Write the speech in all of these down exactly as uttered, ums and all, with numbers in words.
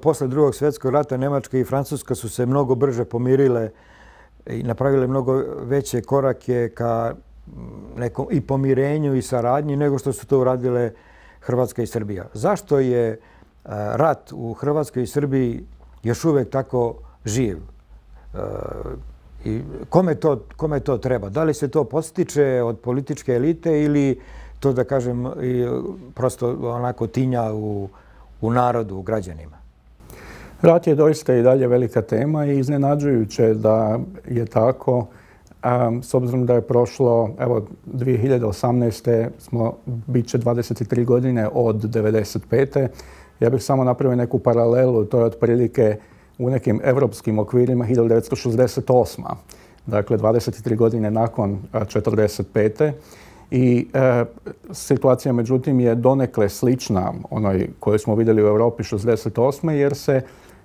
posle drugog svjetskog rata Njemačka i Francuska su se mnogo brže pomirile i napravile mnogo veće korake ka nekom i pomirenju i saradnji nego što su to uradile Hrvatska i Srbija. Zašto je rat u Hrvatskoj i Srbiji još uvijek tako živ? I kome to, kome to treba? Da li se to podstiče od političke elite ili to, da kažem, prosto onako tinja u, u narodu, u građanima? Rat je doista i dalje velika tema i iznenađujuće da je tako. Um, s obzirom da je prošlo, evo, dvije hiljade osamnaeste smo, bit će dvadeset tri godine od devedeset pete. Ja bih samo napravio neku paralelu, to je otprilike u nekim evropskim okvirima hiljadu devetsto šezdeset osma. Dakle, dvadeset tri godine nakon četrdeset pete. I e, situacija, međutim, je donekle slična onoj koju smo vidjeli u Europi šezdeset osme jer se,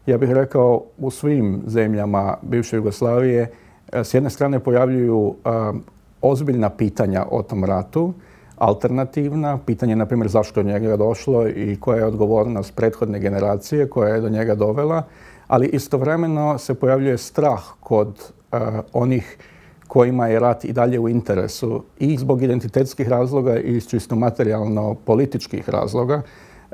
ja bih rekao, u svim zemljama bivše Jugoslavije s jedne strane pojavljuju a, ozbiljna pitanja o tom ratu, alternativna, pitanje, na primjer, zašto je do njega došlo i koja je odgovornost prethodne generacije koja je do njega dovela, ali istovremeno se pojavljuje strah kod a, onih kojima je rat i dalje u interesu i zbog identitetskih razloga i iz čisto materijalno-političkih razloga,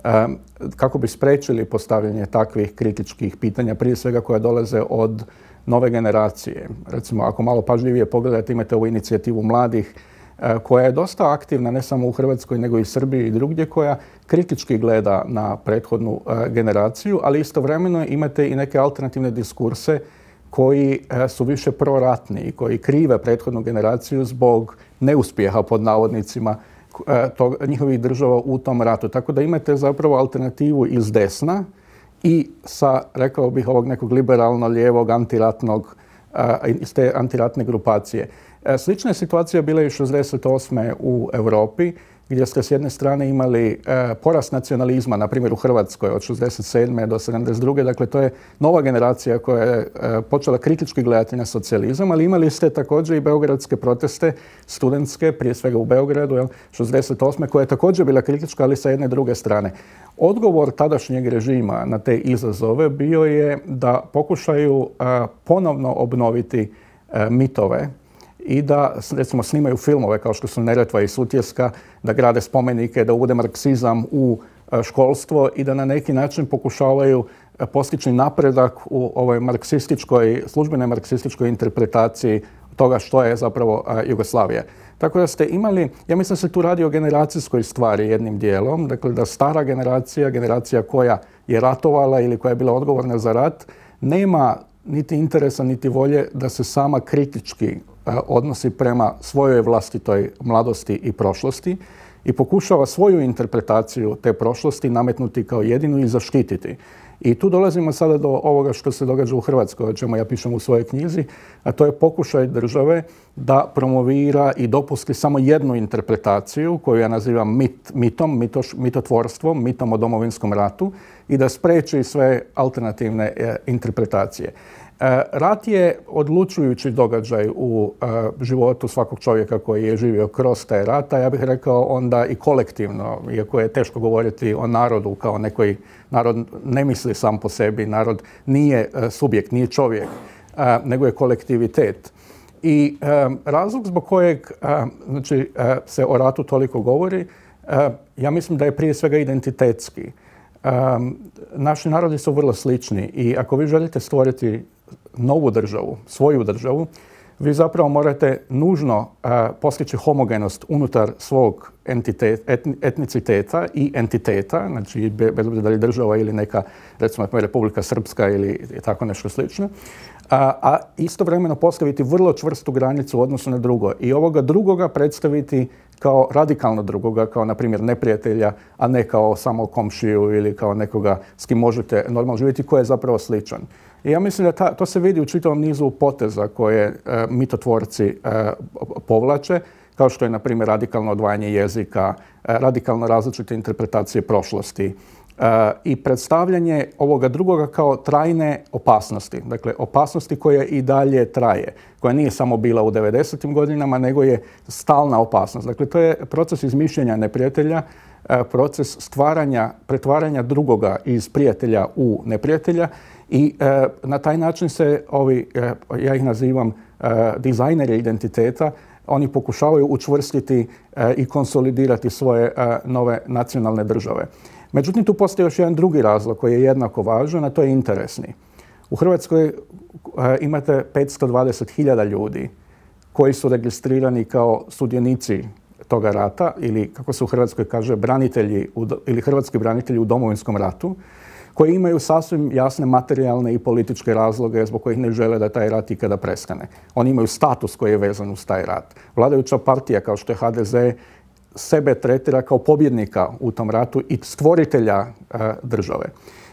a, kako bi spriječili postavljanje takvih kritičkih pitanja, prije svega koja dolaze od nove generacije. Recimo, ako malo pažljivije pogledate, imate ovu inicijativu mladih koja je dosta aktivna ne samo u Hrvatskoj nego i Srbiji i drugdje, koja kritički gleda na prethodnu generaciju, ali istovremeno imate i neke alternativne diskurse koji su više proratni i koji krive prethodnu generaciju zbog neuspjeha, pod navodnicima, tog, njihovih država u tom ratu. Tako da imate zapravo alternativu iz desna i sa, rekao bih, ovog nekog liberalno-lijevog antiratnog, iz te antiratne grupacije. Slična je situacija bila i šezdeset osme u Europi, gdje ste s jedne strane imali porast nacionalizma, na primjer u Hrvatskoj od šezdeset sedme do sedamdeset druge. Dakle, to je nova generacija koja je počela kritički gledati na socijalizam, ali imali ste također i beogradske proteste, studentske, prije svega u Beogradu, šezdeset osme, koja je također bila kritička, ali sa jedne druge strane. Odgovor tadašnjeg režima na te izazove bio je da pokušaju ponovno obnoviti mitove i da, recimo, snimaju filmove kao što su Neretva i Sutjeska, da grade spomenike, da uvode marksizam u školstvo i da na neki način pokušavaju postići napredak u ovoj marksističkoj, službenoj marksističkoj interpretaciji toga što je zapravo Jugoslavija. Tako da ste imali, ja mislim da se tu radi o generacijskoj stvari jednim dijelom, dakle da stara generacija, generacija koja je ratovala ili koja je bila odgovorna za rat, nema niti interesa niti volje da se sama kritički odnosi prema svojoj vlastitoj mladosti i prošlosti i pokušava svoju interpretaciju te prošlosti nametnuti kao jedinu i zaštititi. I tu dolazimo sada do ovoga što se događa u Hrvatskoj, o čemu ja pišem u svojoj knjizi, a to je pokušaj države da promovira i dopusti samo jednu interpretaciju koju ja nazivam mit, mitom, mitoš, mitotvorstvom, mitom o Domovinskom ratu i da spriječi sve alternativne e, interpretacije. E, rat je odlučujući događaj u e, životu svakog čovjeka koji je živio kroz taj rat, a ja bih rekao onda i kolektivno, iako je teško govoriti o narodu kao nekoj, narod ne misli sam po sebi, narod nije e, subjekt, nije čovjek, e, nego je kolektivitet. I e, razlog zbog kojeg e, znači, e, se o ratu toliko govori, e, ja mislim da je prije svega identitetski. E, naši narodi su vrlo slični i ako vi želite stvoriti novu državu, svoju državu, vi zapravo morate nužno uh, postići homogenost unutar svog entitet, etni, etniciteta i entiteta, znači bez obzira da li država ili neka, recimo, Republika Srpska ili tako nešto slično, uh, a istovremeno postaviti vrlo čvrstu granicu u odnosu na drugo i ovoga drugoga predstaviti kao radikalno drugoga, kao, na primjer, neprijatelja, a ne kao samo komšiju ili kao nekoga s kim možete normalno živjeti, ko je zapravo sličan. I ja mislim da ta, to se vidi u čitavom nizu poteza koje e, mitotvorci e, povlače, kao što je, na primjer, radikalno odvajanje jezika, e, radikalno različite interpretacije prošlosti e, i predstavljanje ovoga drugoga kao trajne opasnosti. Dakle, opasnosti koja i dalje traje, koja nije samo bila u devedesetim godinama, nego je stalna opasnost. Dakle, to je proces izmišljenja neprijatelja proces stvaranja, pretvaranja drugoga iz prijatelja u neprijatelja i na taj način se ovi, ja ih nazivam dizajneri identiteta, oni pokušavaju učvrstiti i konsolidirati svoje nove nacionalne države. Međutim, tu postoji još jedan drugi razlog koji je jednako važan, a to je interesni. U Hrvatskoj imate petsto dvadeset hiljada ljudi koji su registrirani kao sudionici toga rata ili, kako se u Hrvatskoj kaže, branitelji ili hrvatski branitelji u Domovinskom ratu, koji imaju sasvim jasne materijalne i političke razloge zbog kojih ne žele da taj rat ikada prestane. Oni imaju status koji je vezan uz taj rat. Vladajuća partija, kao što je H D Z, sebe tretira kao pobjednika u tom ratu i stvoritelja uh, države.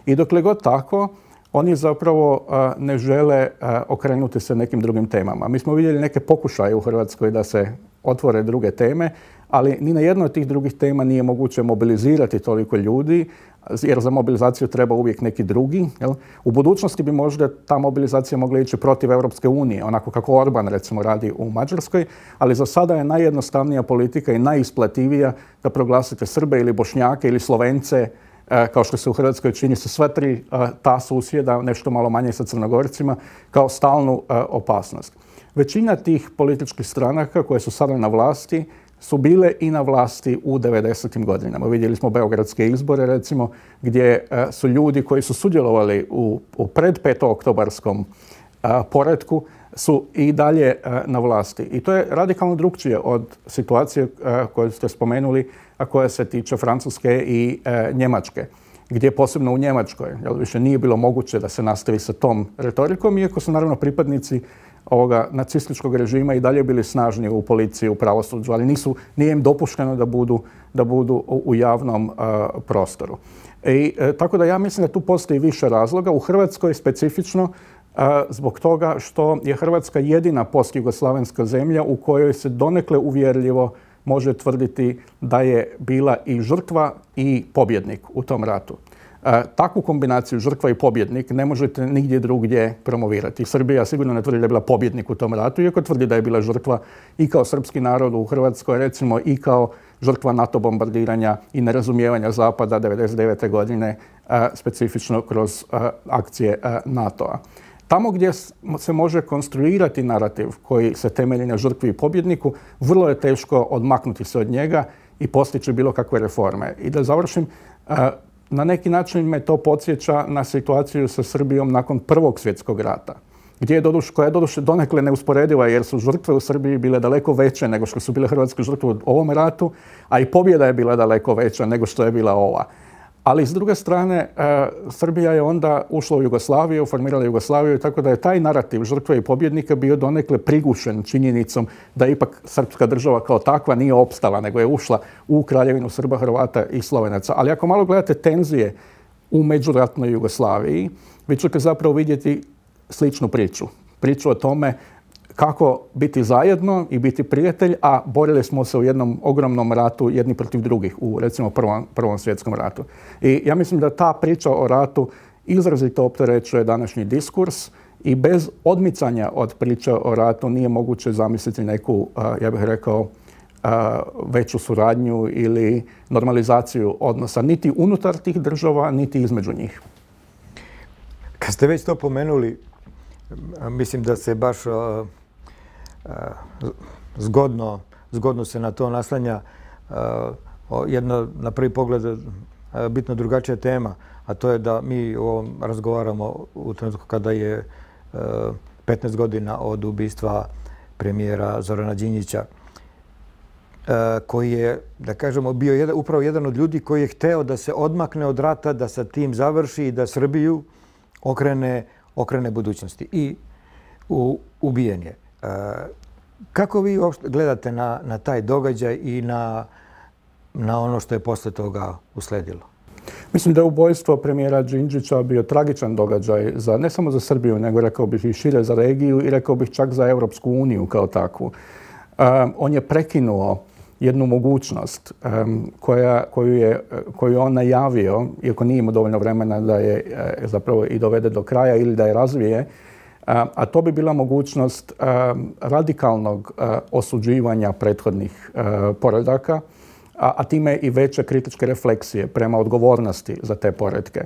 I dokle god tako, oni zapravo uh, ne žele uh, okrenuti se nekim drugim temama. Mi smo vidjeli neke pokušaje u Hrvatskoj da se otvore druge teme, ali ni na jednoj od tih drugih tema nije moguće mobilizirati toliko ljudi, jer za mobilizaciju treba uvijek neki drugi. Jel? U budućnosti bi možda ta mobilizacija mogla ići protiv Europske unije, onako kako Orban recimo radi u Mađarskoj, ali za sada je najjednostavnija politika i najisplativija da proglasite Srbe ili Bošnjake ili Slovence, kao što se u Hrvatskoj čini sa sva tri ta susjeda, nešto malo manje sa Crnogorcima, kao stalnu opasnost. Većina tih političkih stranaka koje su sada na vlasti su bile i na vlasti u devedesetim godinama. Vidjeli smo beogradske izbore, recimo, gdje su ljudi koji su sudjelovali u, u pred petooktobarskom poretku su i dalje na vlasti. I to je radikalno drukčije od situacije koju ste spomenuli, a koja se tiče Francuske i Njemačke, gdje posebno u Njemačkoj jel, više nije bilo moguće da se nastavi sa tom retorikom, iako su naravno pripadnici ovoga nacističkog režima i dalje bili snažni u policiji, u pravosuđu, ali nisu, nije im dopušteno da budu, da budu u, u javnom uh, prostoru. I, e, tako da ja mislim da tu postoji više razloga. U Hrvatskoj specifično uh, zbog toga što je Hrvatska jedina postjugoslavenska zemlja u kojoj se donekle uvjerljivo može tvrditi da je bila i žrtva i pobjednik u tom ratu. E, takvu kombinaciju žrtva i pobjednik ne možete nigdje drugdje promovirati. Srbija sigurno ne tvrdi da je bila pobjednik u tom ratu, iako tvrdi da je bila žrtva i kao srpski narod u Hrvatskoj, recimo i kao žrtva NATO bombardiranja i nerazumijevanja Zapada devedeset devete godine, e, specifično kroz e, akcije e, NATO-a. Tamo gdje se može konstruirati narativ koji se temelji na žrtvi i pobjedniku, vrlo je teško odmaknuti se od njega i postići bilo kakve reforme. I da završim, na neki način me to podsjeća na situaciju sa Srbijom nakon Prvog svjetskog rata, gdje je doduše, koja je doduše donekle neusporediva jer su žrtve u Srbiji bile daleko veće nego što su bile hrvatske žrtve u ovom ratu, a i pobjeda je bila daleko veća nego što je bila ova. Ali s druge strane, e, Srbija je onda ušla u Jugoslaviju, formirala Jugoslaviju, tako da je taj narativ žrtve i pobjednika bio donekle prigušen činjenicom da ipak srpska država kao takva nije opstala, nego je ušla u kraljevinu Srba, Hrvata i Slovenaca. Ali ako malo gledate tenzije u međuratnoj Jugoslaviji, vi ćete zapravo vidjeti sličnu priču. Priču o tome kako biti zajedno i biti prijatelj, a borili smo se u jednom ogromnom ratu jedni protiv drugih, u recimo prvom, prvom svjetskom ratu. I ja mislim da ta priča o ratu izrazito opterećuje današnji diskurs i bez odmicanja od priče o ratu nije moguće zamisliti neku, ja bih rekao, veću suradnju ili normalizaciju odnosa, niti unutar tih država, niti između njih. Kad ste već to pomenuli, mislim da se baš zgodno, zgodno se na to naslanja jedna na prvi pogled bitno drugačija tema, a to je da mi o ovom razgovaramo u trenutku kada je petnaest godina od ubistva premijera Zorana Đinđića, koji je, da kažemo, bio jedan, upravo jedan od ljudi koji je hteo da se odmakne od rata, da sa tim završi i da Srbiju okrene, okrene budućnosti. I u, ubijen je. Kako vi gledate na, na taj događaj i na, na ono što je posle toga usledilo? Mislim da je ubojstvo premijera Đinđića bio tragičan događaj za, ne samo za Srbiju, nego rekao bih i šire za regiju i rekao bih čak za Europsku uniju kao takvu. Um, on je prekinuo jednu mogućnost um, koja, koju, je, koju on najavio, iako nije imao dovoljno vremena da je e, zapravo i dovede do kraja ili da je razvije, a, a to bi bila mogućnost um, radikalnog uh, osuđivanja prethodnih uh, poredaka a, a time i veće kritičke refleksije prema odgovornosti za te poretke.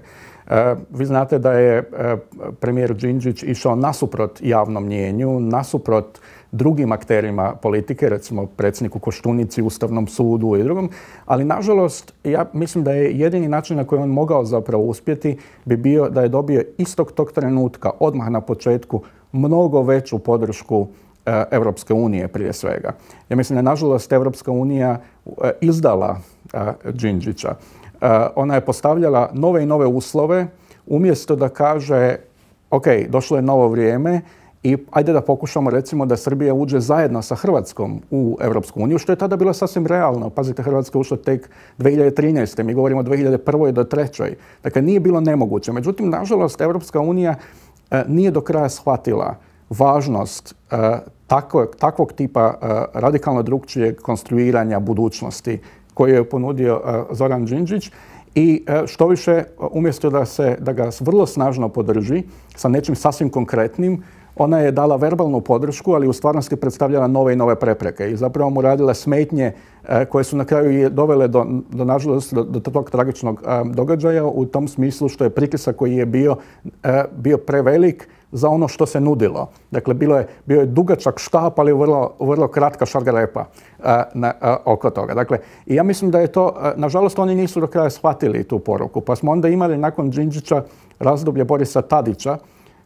E, vi znate da je e, premijer Đinđić išao nasuprot javnom mnijenju, nasuprot drugim akterima politike, recimo predsjedniku Koštunici, Ustavnom sudu i drugom, ali nažalost ja mislim da je jedini način na koji on mogao zapravo uspjeti bi bio da je dobio istog tog trenutka, odmah na početku, mnogo veću podršku e, Europske unije prije svega. Ja mislim da je nažalost Europska unija e, izdala e, Đinđića. E, ona je postavljala nove i nove uslove umjesto da kaže ok, došlo je novo vrijeme i ajde da pokušamo recimo da Srbija uđe zajedno sa Hrvatskom u Europsku uniju, što je tada bilo sasvim realno. Pazite, Hrvatska je ušla tek dvije hiljade trinaeste. Mi govorimo o dvije hiljade prvoj do trećoj. Dakle, nije bilo nemoguće. Međutim, nažalost, Europska unija e, nije do kraja shvatila važnost e, takvog, takvog tipa e, radikalno drukčijeg konstruiranja budućnosti koju je ponudio e, Zoran Đinđić. I što više, umjesto da, se, da ga vrlo snažno podrži sa nečim sasvim konkretnim, ona je dala verbalnu podršku, ali u stvarnosti predstavljala nove i nove prepreke i zapravo mu radila smetnje e, koje su na kraju dovele do, do nažalost, do, do tog tragičnog e, događaja u tom smislu što je pritisak koji je bio, e, bio prevelik za ono što se nudilo. Dakle, bilo je, bio je dugačak štap, ali vrlo, vrlo kratka šargarepa a, na, a, oko toga. Dakle, i ja mislim da je to, a, nažalost, oni nisu do kraja shvatili tu poruku. Pa smo onda imali nakon Đinđića razdoblje Borisa Tadića,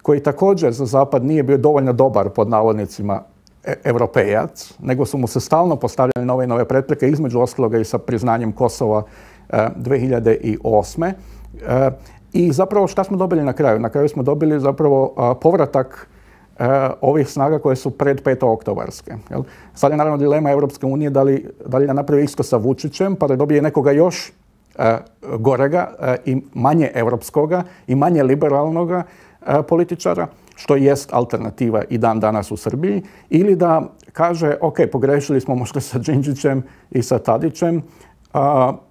koji također za Zapad nije bio dovoljno dobar, pod navodnicima, e, europejac, nego su mu se stalno postavljali nove i nove prepreke, između ostaloga i sa priznanjem Kosova e, dvije hiljade osme. E, I zapravo šta smo dobili na kraju? Na kraju smo dobili zapravo a, povratak a, ovih snaga koje su pred petooktobarske. Jel? Sad je naravno dilema Europske unije da li, da li da napravi isto sa Vučićem pa da dobije nekoga još a, gorega a, i manje europskoga i manje liberalnoga a, političara, što jest alternativa i dan danas u Srbiji, ili da kaže ok, pogrešili smo možda sa Đinđićem i sa Tadićem, Uh,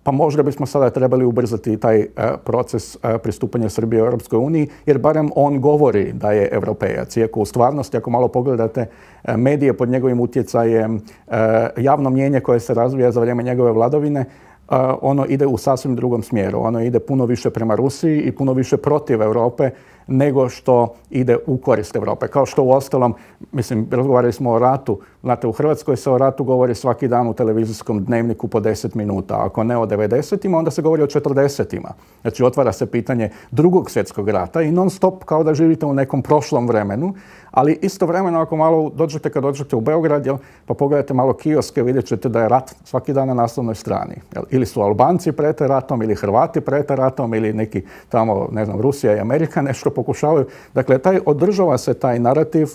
pa možda bismo sada trebali ubrzati taj uh, proces uh, pristupanja Srbije u Europskoj uniji, jer barem on govori da je europejac. Iako u stvarnosti, ako malo pogledate uh, medije pod njegovim utjecajem, uh, javno mnijenje koje se razvija za vrijeme njegove vladavine, uh, ono ide u sasvim drugom smjeru. Ono ide puno više prema Rusiji i puno više protiv Europe nego što ide u korist Europe. Kao što u ostalom, mislim, razgovarali smo o ratu. Znate, u Hrvatskoj se o ratu govori svaki dan u televizijskom dnevniku po deset minuta. Ako ne o devedesetima, onda se govori o četrdesetima. Znači, otvara se pitanje drugog svjetskog rata i non stop kao da živite u nekom prošlom vremenu. Ali istovremeno, ako malo dođete, kad dođete u Beograd, jel, pa pogledate malo kioske, vidjet ćete da je rat svaki dan na naslovnoj strani. Jel, ili su Albanci prete ratom, ili Hrvati prete ratom, ili neki tamo, ne znam, Rusija i Amerika nešto pokušavaju. Dakle, taj, održava se taj narativ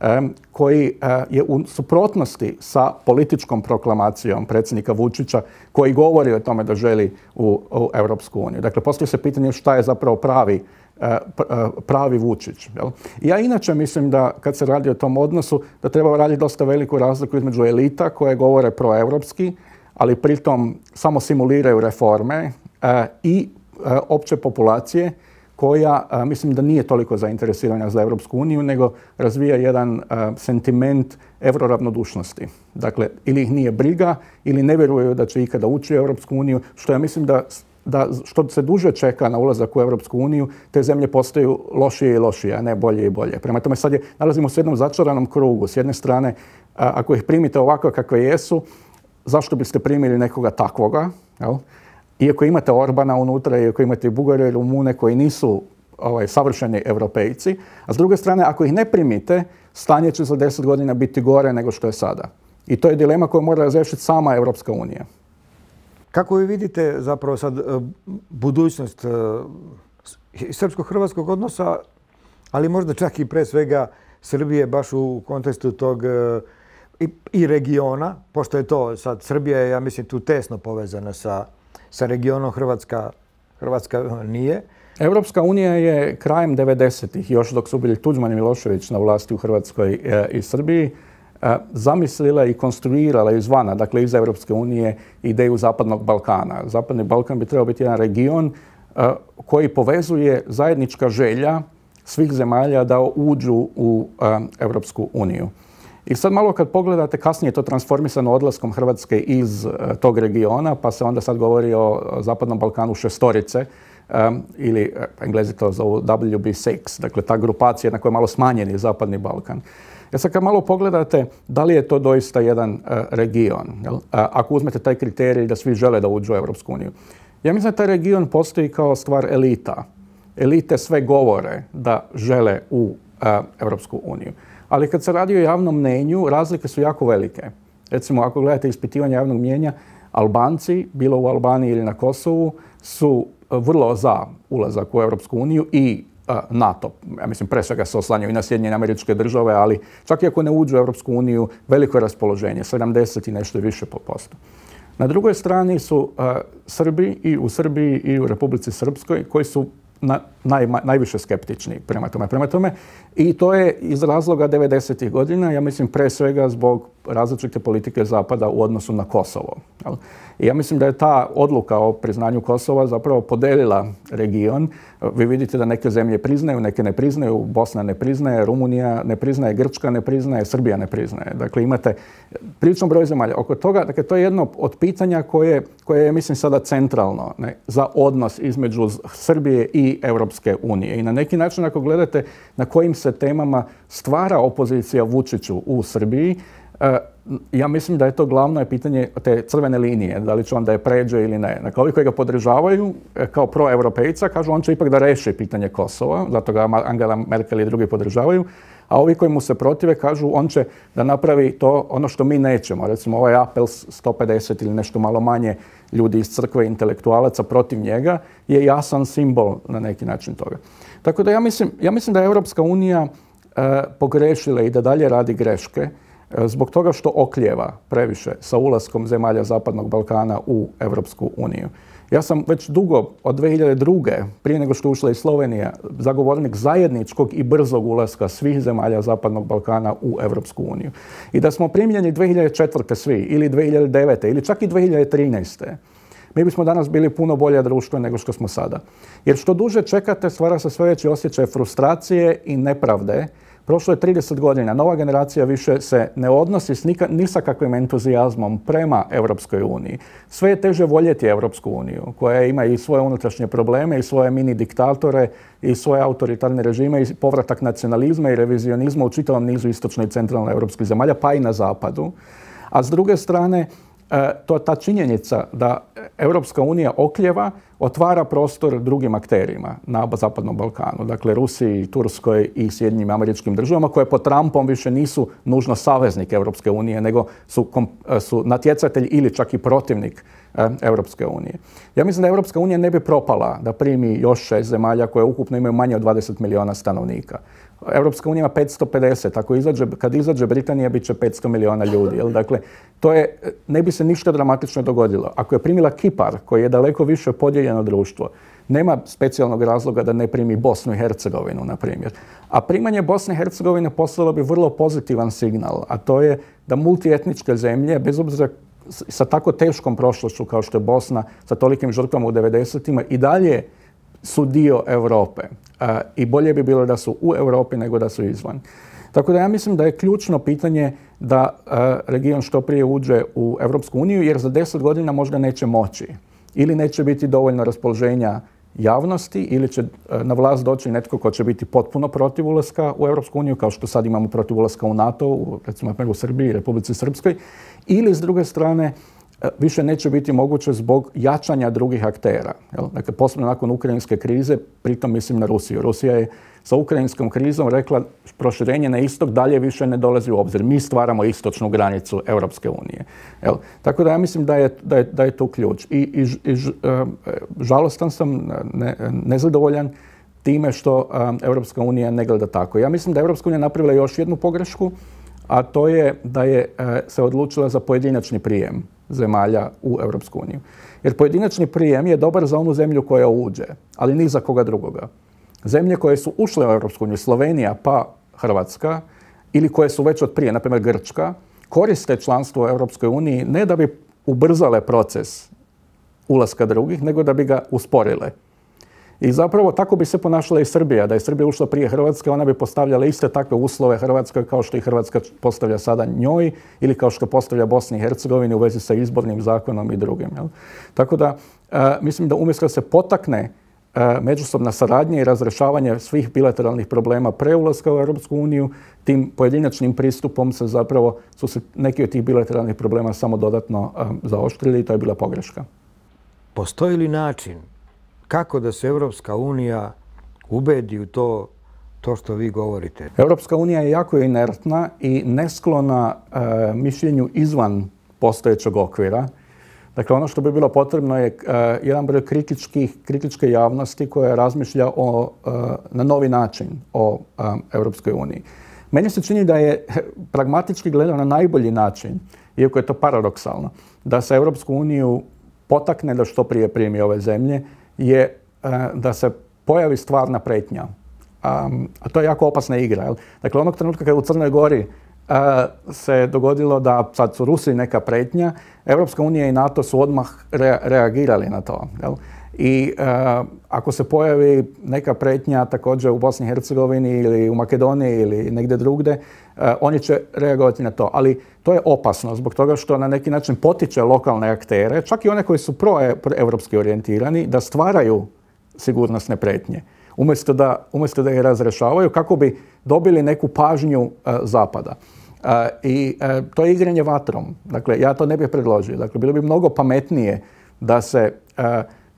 um, koji uh, je u suprotnosti sa političkom proklamacijom predsjednika Vučića koji govori o tome da želi u, u Europsku uniju. Dakle, postoji se pitanje šta je zapravo pravi pravi Vučić. Jel? Ja inače mislim da kad se radi o tom odnosu da treba raditi dosta veliku razliku između elita koje govore proevropski, ali pritom samo simuliraju reforme e, i e, opće populacije koja e, mislim da nije toliko zainteresirana za Europsku uniju, nego razvija jedan e, sentiment euroravnodušnosti. Dakle, ili ih nije briga, ili ne vjeruju da će ikada ući u Europsku uniju, što ja mislim da da što se duže čeka na ulazak u Europsku uniju, te zemlje postaju lošije i lošije, a ne bolje i bolje. Prema tome sad je, nalazimo se u jednom začaranom krugu. S jedne strane, a, ako ih primite ovako kakve jesu, zašto biste primili nekoga takvoga? Jel? Iako imate Orbana unutra, iako imate i Bugare i Rumune koji nisu ovaj, savršeni europejci, a s druge strane, ako ih ne primite, stanje će za deset godina biti gore nego što je sada. I to je dilema koju mora razriješiti sama Europska unija. Kako vi vidite zapravo sad budućnost srpsko-hrvatskog odnosa, ali možda čak i pre svega Srbije baš u kontekstu tog i, i regiona, pošto je to sad Srbija je, ja mislim, tu tesno povezana sa, sa regionom, Hrvatska, Hrvatska nije. Europska unija je krajem devedesetih, još dok su bili Tuđman i Milošević na vlasti u Hrvatskoj i Srbiji, zamislila i konstruirala izvana, dakle iz Europske unije, ideju Zapadnog Balkana. Zapadni Balkan bi trebao biti jedan region uh, koji povezuje zajednička želja svih zemalja da uđu u uh, Europsku uniju. I sad malo kad pogledate, kasnije je to transformisano odlaskom Hrvatske iz uh, tog regiona, pa se onda sad govori o Zapadnom Balkanu šestorice, um, ili uh, Englezi to zovu W B šest, dakle ta grupacija na kojoj je malo smanjeni Zapadni Balkan. Ja sad kad malo pogledate da li je to doista jedan uh, region, jel? Uh, ako uzmete taj kriterij da svi žele da uđu u Europsku uniju. Ja mislim da taj region postoji kao stvar elita. Elite sve govore da žele u uh, Europsku uniju. Ali kad se radi o javnom mnenju, razlike su jako velike. Recimo, ako gledate ispitivanje javnog mnijenja, Albanci, bilo u Albaniji ili na Kosovu, su vrlo za ulazak u Europsku uniju i uh, NATO. Ja mislim, pre svega se oslanjaju i na Sjedinjene Američke Države, ali čak i ako ne uđu u Europsku uniju, veliko je raspoloženje, sedamdeset i nešto više po posto. Na drugoj strani su uh, Srbi i u Srbiji i u Republici Srpskoj koji su na, naj, najviše skeptični prema tome. Prema tome i to je iz razloga devedesetih godina, ja mislim pre svega zbog različite politike Zapada u odnosu na Kosovo. Jel? I ja mislim da je ta odluka o priznanju Kosova zapravo podelila region. Vi vidite da neke zemlje priznaju, neke ne priznaju, Bosna ne priznaje, Rumunija ne priznaje, Grčka ne priznaje, Srbija ne priznaje. Dakle, imate priličan broj zemalja. Oko toga, dakle, to je jedno od pitanja koje, koje je, mislim, sada centralno ne, za odnos između Srbije i Europske unije. I na neki način, ako gledate na kojim se temama stvara opozicija Vučiću u Srbiji, ja mislim da je to glavno pitanje te crvene linije, da li će on da je pređe ili ne. Dakle, ovi koji ga podržavaju kao proevropejca kažu on će ipak da reši pitanje Kosova, zato ga Angela Merkel i drugi podržavaju, a ovi koji mu se protive kažu on će da napravi to ono što mi nećemo. Recimo ovaj apel sto pedeset ili nešto malo manje ljudi iz crkve, intelektualaca protiv njega je jasan simbol na neki način toga. Tako da ja mislim, ja mislim da je Europska unija e, pogrešila i da dalje radi greške zbog toga što oklijeva previše sa ulaskom zemalja Zapadnog Balkana u Europsku uniju. Ja sam već dugo, od dve hiljade druge, prije nego što ušla i Slovenija, zagovornik zajedničkog i brzog ulaska svih zemalja Zapadnog Balkana u Europsku uniju. I da smo primljeni dve hiljade četvrte svi, ili dve hiljade devete, ili čak i dve hiljade trinaeste mi bismo danas bili puno bolje društvo nego što smo sada. Jer što duže čekate, stvara se sve veći osjećaj frustracije i nepravde. Prošlo je trideset godina, nova generacija više se ne odnosi s nika, ni sa kakvim entuzijazmom prema Europskoj uniji. Sve je teže voljeti Europsku uniju, koja ima i svoje unutrašnje probleme, i svoje mini diktatore, i svoje autoritarne režime, i povratak nacionalizma i revizionizma u čitavom nizu istočno i centralno europskih zemalja, pa i na zapadu. A s druge strane, to ta činjenica da Europska unija oklijeva otvara prostor drugim akterima na Zapadnom Balkanu. Dakle, Rusiji, Turskoj i Sjedinjenim Američkim Državama koje pod Trumpom više nisu nužno saveznik Europske unije, nego su, su natjecatelj ili čak i protivnik eh, Europske unije. Ja mislim da Europska unija ne bi propala da primi još šest zemalja koje ukupno imaju manje od dvadeset miliona stanovnika. Europska unija ima petsto pedeset, ako izađe, kad izađe Britanija bit će petsto miliona ljudi. Jel? Dakle, to je, ne bi se ništa dramatično dogodilo. Ako je primila Kipar, koji je daleko više podijeljeno društvo, nema specijalnog razloga da ne primi Bosnu i Hercegovinu, na primjer. A primanje Bosne i Hercegovine poslalo bi vrlo pozitivan signal, a to je da multietničke zemlje, bez obzira sa tako teškom prošlošću kao što je Bosna, sa tolikim žrtvama u devedesetima, i dalje su dio Europe. Uh, I bolje bi bilo da su u Europi nego da su izvan. Tako da ja mislim da je ključno pitanje da uh, region što prije uđe u Europsku uniju, jer za deset godina možda neće moći. Ili neće biti dovoljno raspoloženja javnosti, ili će uh, na vlast doći netko ko će biti potpuno protiv ulaska u Europsku uniju, kao što sad imamo protiv ulaska u NATO, u, recimo u Srbiji i Republici Srpskoj, ili s druge strane više neće biti moguće zbog jačanja drugih aktera. Jel? Dakle, posebno nakon ukrajinske krize, pritom mislim na Rusiju. Rusija je sa ukrajinskom krizom rekla proširenje na istok dalje više ne dolazi u obzir. Mi stvaramo istočnu granicu Europske unije. Jel? Tako da ja mislim da je, da je, da je tu ključ. I, i, i žalostan sam, ne, nezadovoljan time što um, Europska unija ne gleda tako. Ja mislim da je Europska unija napravila još jednu pogrešku, a to je da je uh, se odlučila za pojedinačni prijem zemalja u Europsku uniju. Jer pojedinačni prijem je dobar za onu zemlju koja uđe, ali ni za koga drugoga. Zemlje koje su ušle u Europsku uniju, Slovenija pa Hrvatska, ili koje su već od prije, na primjer Grčka, koriste članstvo u Europskoj uniji ne da bi ubrzale proces ulaska drugih, nego da bi ga usporile. I zapravo tako bi se ponašala i Srbija. Da je Srbija ušla prije Hrvatske, ona bi postavljala iste takve uslove Hrvatskoj kao što i Hrvatska postavlja sada njoj ili kao što postavlja Bosni i Hercegovini u vezi sa izbornim zakonom i drugim. Jel? Tako da mislim da umjesto da se potakne međusobna saradnja i razrešavanje svih bilateralnih problema pre ulaska u Europsku uniju, tim pojedinačnim pristupom se zapravo su se neki od tih bilateralnih problema samo dodatno zaoštrili i to je bila pogreška. Postoji li način kako da se Europska unija ubedi u to, to što vi govorite? Europska unija je jako inertna i nesklona e, mišljenju izvan postojećeg okvira. Dakle, ono što bi bilo potrebno je e, jedan broj kritičkih, kritičke javnosti koja razmišlja o, e, na novi način o e, Europskoj uniji. Meni se čini da je pragmatički gledano na najbolji način, iako je to paradoksalno, da se Europsku uniju potakne da što prije primi ove zemlje, je da se pojavi stvarna pretnja. A to je jako opasna igra. Dakle, onog trenutka kada u Crnoj Gori se dogodilo da sad su Rusi neka pretnja, Europska unija i NATO su odmah reagirali na to. I ako se pojavi neka pretnja također u Bosni i Hercegovini ili u Makedoniji ili negdje drugdje, oni će reagovati na to. Ali to je opasno zbog toga što na neki način potiče lokalne aktere, čak i one koji su proevropski orijentirani, da stvaraju sigurnosne pretnje. Umjesto da, umjesto da ih razrešavaju kako bi dobili neku pažnju Zapada. I to je igranje vatrom. Dakle, ja to ne bih predložio. Dakle, bilo bi mnogo pametnije da se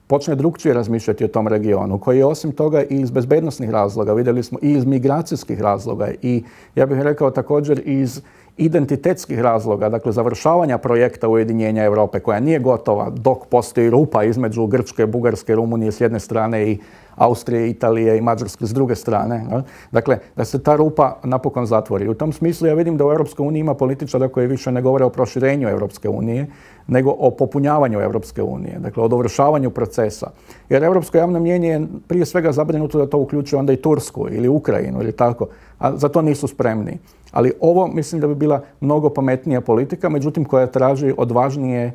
počne drukčije razmišljati o tom regionu, koji je osim toga i iz bezbednosnih razloga, vidjeli smo i iz migracijskih razloga i ja bih rekao također iz identitetskih razloga, dakle završavanja projekta ujedinjenja Europe koja nije gotova dok postoji rupa između Grčke, Bugarske, Rumunije s jedne strane i Austrije, Italije i Mađarske s druge strane. Dakle, da se ta rupa napokon zatvori. U tom smislu ja vidim da u Europskoj uniji ima političara koji više ne govore o proširenju Europske unije, nego o popunjavanju Europske unije, dakle o dovršavanju procesa. Jer europsko javno mnijenje je prije svega zabrinuto da to uključuje onda i Tursku ili Ukrajinu ili tako, a za to nisu spremni. Ali ovo mislim da bi bila mnogo pametnija politika, međutim koja traži odvažnije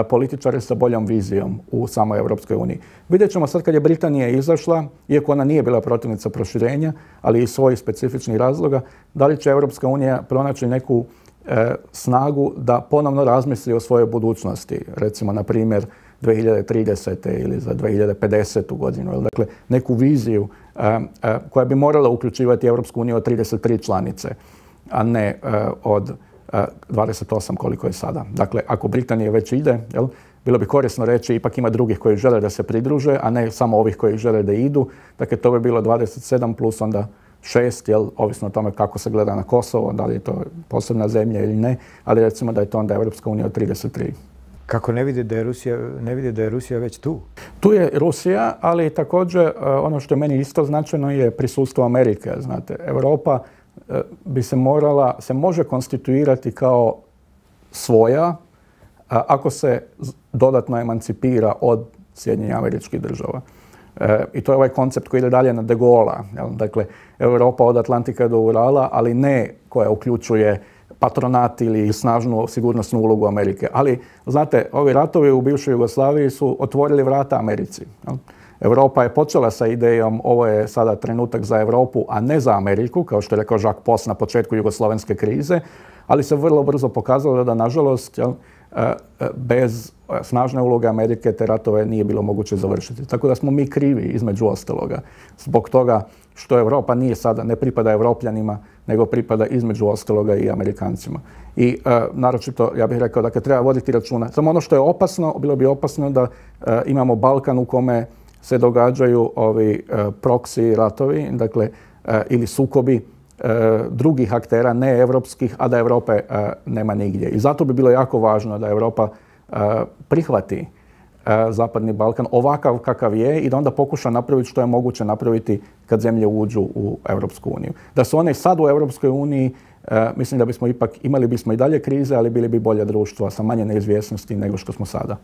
političare sa boljom vizijom u samoj Europskoj uniji. Vidjet ćemo sad kad je Britanija izašla, iako ona nije bila protivnica proširenja, ali iz svojih specifičnih razloga, da li će Europska unija pronaći neku e, snagu da ponovno razmisli o svojoj budućnosti, recimo na primjer dvije hiljade tridesete ili za dvije hiljade pedesetu godinu. Dakle, neku viziju e, e, koja bi morala uključivati Europsku uniju od trideset tri članice, a ne e, od dvadeset osam koliko je sada. Dakle, ako Britanija već ide, jel, bilo bi korisno reći ipak ima drugih koji žele da se pridruže, a ne samo ovih koji žele da idu. Dakle, to bi bilo dvadeset sedam plus onda šest, jel, ovisno o tome kako se gleda na Kosovo, da li je to posebna zemlja ili ne, ali recimo da je to onda Europska unija od trideset tri. Kako ne vidi da je Rusija, ne vidi da je Rusija već tu? Tu je Rusija, ali također ono što je meni isto značajno je prisustvo Amerike. Znate, Europa bi se morala, se može konstituirati kao svoja ako se dodatno emancipira od Sjedinjenih Američkih Država. E, I to je ovaj koncept koji ide dalje na De Gaulle'a. Dakle, Europa od Atlantika do Urala, ali ne koja uključuje patronat ili snažnu sigurnosnu ulogu Amerike. Ali, znate, ovi ratovi u bivšoj Jugoslaviji su otvorili vrata Americi. Jel? Europa je počela sa idejom ovo je sada trenutak za Europu, a ne za Ameriku, kao što je rekao Jacques Post na početku jugoslovenske krize, ali se vrlo brzo pokazalo da, nažalost, jel, bez snažne uloge Amerike te ratove nije bilo moguće završiti. Tako da smo mi krivi, između ostaloga, zbog toga što Europa nije sada, ne pripada Evropljanima, nego pripada između ostaloga i Amerikancima. I e, naročito, ja bih rekao, dakle, treba voditi računa. Samo ono što je opasno, bilo bi opasno da e, imamo Balkan u kome se događaju ovi e, proksi ratovi, dakle, e, ili sukobi e, drugih aktera, ne evropskih, a da Europe e, nema nigdje. I zato bi bilo jako važno da Europa e, prihvati e, Zapadni Balkan ovakav kakav je i da onda pokuša napraviti što je moguće napraviti kad zemlje uđu u Europsku uniju. Da su one sad u Europskoj uniji, e, mislim da bismo ipak imali bismo i dalje krize, ali bili bi bolje društvo sa manje neizvjesnosti nego što smo sada.